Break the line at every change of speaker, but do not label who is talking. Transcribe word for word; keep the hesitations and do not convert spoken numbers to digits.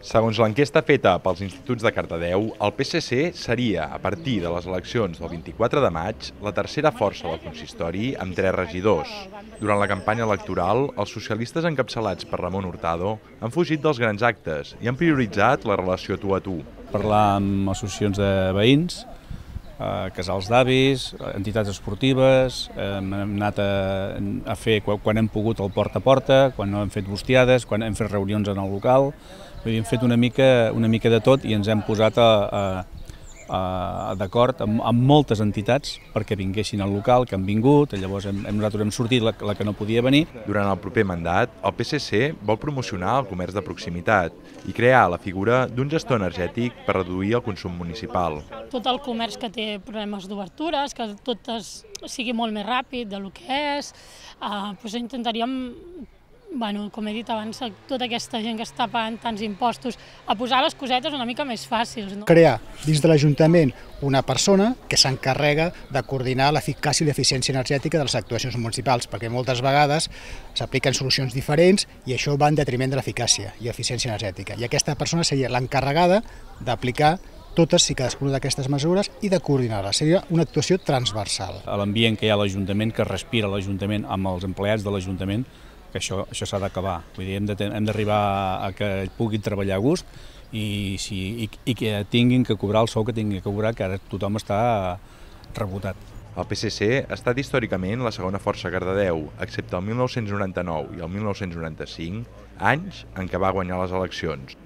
Segons l'enquesta feta pels instituts de Cardedeu, el P S C seria, a partir de les eleccions del vint-i-quatre de maig, la tercera força del consistori amb tres regidors. Durant la campanya electoral, els socialistes encapçalats per Ramon Hurtado han fugit dels grans actes i han prioritzat la relació tu a tu.
Parlar amb associacions de veïns, eh, casals d'avis, entitats esportives, eh, hem anat a, a fer quan hem pogut el porta a porta, quan hem fet bustiades, quan hem fet reunions en el local. Hem fet una mica, una mica de tot i ens hem posat a, a, a, d'acord amb, amb moltes entitats perquè vinguessin al local, que han vingut, llavors hem, nosaltres hem sortit la, la que no podia venir.
Durant el proper mandat, el P S C vol promocionar el comerç de proximitat i crear la figura d'un gestor energètic per reduir el consum municipal.
Tot el comerç que té problemes d'obertures, que tot es, sigui molt més ràpid del que és, eh, doncs intentaríem, bueno, com he dit abans, tota aquesta gent que està pagant tants impostos, a posar les cosetes una mica més fàcils. No?
Crear dins de l'Ajuntament una persona que s'encarrega de coordinar l'eficàcia i l'eficiència energètica de les actuacions municipals, perquè moltes vegades s'apliquen solucions diferents i això va en detriment de l'eficàcia i eficiència energètica. I aquesta persona seria l'encarregada d'aplicar totes i cadascuna d'aquestes mesures i de coordinar-les. Seria una actuació transversal.
L'ambient que hi ha a l'Ajuntament, que respira l'Ajuntament amb els empleats de l'Ajuntament, que això, això s'ha d'acabar. Vull dir, hem d'arribar a que puguin treballar a gust i, si, i, i que tinguin que cobrar el sou que tinguin que cobrar, que ara tothom està rebotat.
El P S C ha estat històricament la segona força a Cardedeu, excepte el mil nou-cents noranta-nou i el mil nou-cents noranta-cinc, anys en què va guanyar les eleccions.